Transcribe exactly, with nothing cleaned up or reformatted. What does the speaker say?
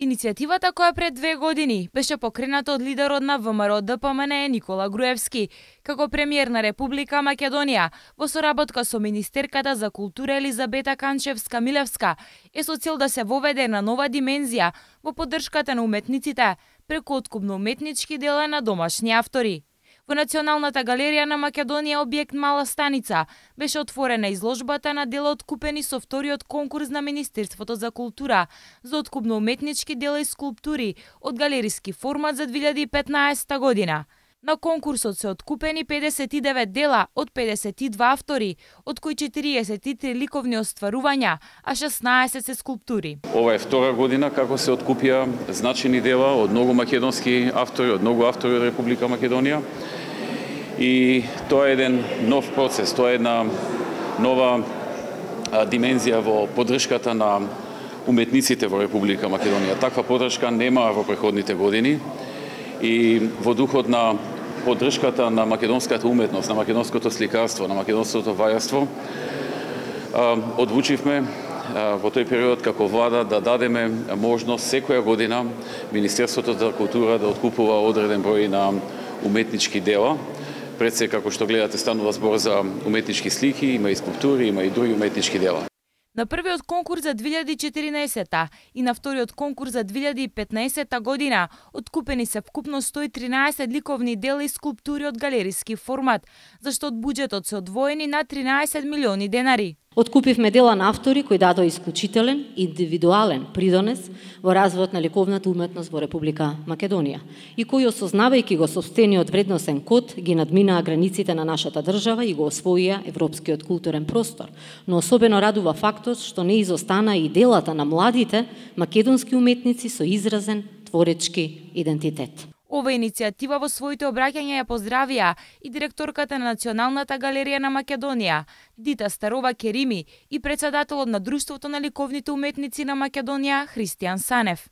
Иницијативата, која пред две години беше покрената од лидерот на ВМРО Д П М Н Е Никола Груевски, како премиер на Република Македонија, во соработка со министерката за култура Елизабета Канчевска-Милевска, е со цел да се воведе на нова димензија во поддршката на уметниците преку откупно-уметнички дела на домашни автори. Во Националната галерија на Македонија, објект Мала Станица, беше отворена изложбата на дела откупени со вториот конкурс на Министерството за култура за откупно-уметнички дела и скулптури од галериски формат за две илјади и петнаесетта година. На конкурсот се откупени педесет и девет дела од педесет и два автори, од кои четириесет и три ликовни остварувања, а шеснаесет се скулптури. Ова е втора година како се откупија значени дела од многу македонски автори, од многу автори од Република Македонија. И тоа е еден нов процес, тоа е една нова а, димензија во поддршката на уметниците во Република Македонија. Таква поддршка нема во преходните години и во духот на поддршката на македонската уметност, на македонското сликарство, на македонското вајарство, одлучивме во тој период како влада да дадеме можност секоја година Министерството за култура да откупува одреден број на уметнички дела. Пред се, како што гледате, станува збор за уметнички слики, има и скулптури, има и други уметнички дела. На првиот конкурс за две илјади и четиринаесетта и на вториот конкурс за две илјади и петнаесетта година откупени се вкупно сто и тринаесет ликовни дела и скулптури од галериски формат, зашто од буџетот се одвоени на тринаесет милиони денари. Откупивме дела на автори кои дадоа исклучителен, индивидуален придонес во развојот на ликовната уметност во Република Македонија и кои, осознавајќи го сопствениот вредносен код, ги надминаа границите на нашата држава и го освоија европскиот културен простор. Но особено радува фактот што не изостана и делата на младите македонски уметници со изразен творечки идентитет. Ова иницијатива во своите обраќања ја поздравија и директорката на Националната галерија на Македонија, Дита Старова Керими, и председателот на Друштвото на ликовните уметници на Македонија, Христијан Санев.